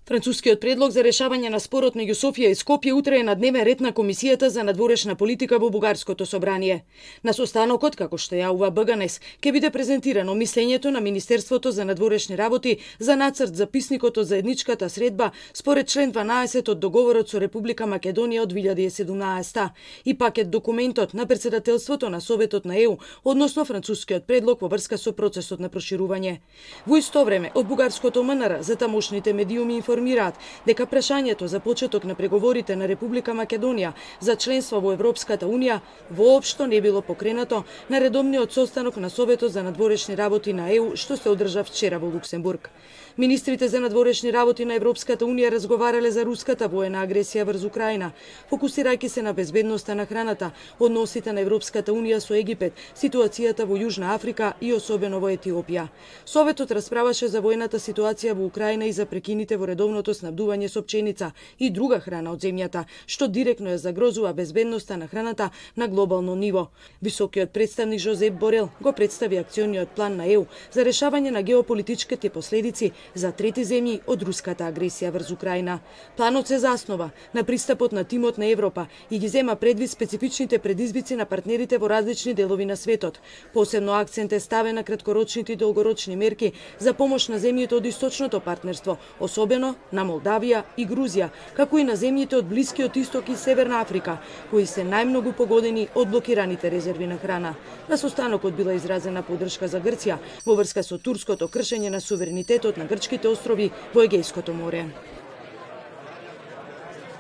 Францускиот предлог за решавање на спорот меѓу Софија и Скопје утре е на дневен ред на Комисијата за надворешна политика во Бугарското собрание. На состанокот, како што јавува БГНЕС, ќе биде презентирано мислењето на Министерството за надворешни работи за нацрт записникот од заедничката средба според член 12 од договорот со Република Македонија од 2017 и пакет документот на председателството на Советот на ЕУ односно францускиот предлог во врска со процесот на проширување. Во исто време, од бугарското МНР за тамошните медиуми информираат дека прашањето за почеток на преговорите на Република Македонија за членство во Европската Унија воопшто не било покренато на редовниот состанок на Советот за надворешни работи на ЕУ што се одржа вчера во Луксембург. Министрите за надворешни работи на Европската Унија разговарале за руската воена агресија врз Украина, фокусирајќи се на безбедноста на храната, односите на Европската Унија со Египет, ситуацијата во Јужна Африка и особено во Етиопија. Советот расправаше за воената ситуација во Украина и за прекините во редовното снабдување со пченица и друга храна од земјата, што директно ја загрозува безбедноста на храната на глобално ниво. Високиот представник Жозеп Борел го представи акциониот план на ЕУ за решавање на геополитичките последици за трети земји од руската агресија врз Украина. Планот се заснова на пристапот на тимот на Европа и ги зема предвид специфичните предизвици на партнерите во различни делови на светот. Посебно акцент е ставен на краткорочните и долгорочни мерки за помош на земјите од источното партнерство, особено на Молдавија и Грузија, како и на земјите од Блискиот исток и Северна Африка, кои се најмногу погодени од блокираните резерви на храна. На состанокот била изразена поддршка за Грција во врска со турското кршење на суверенитетот на грчките острови во Егејското море.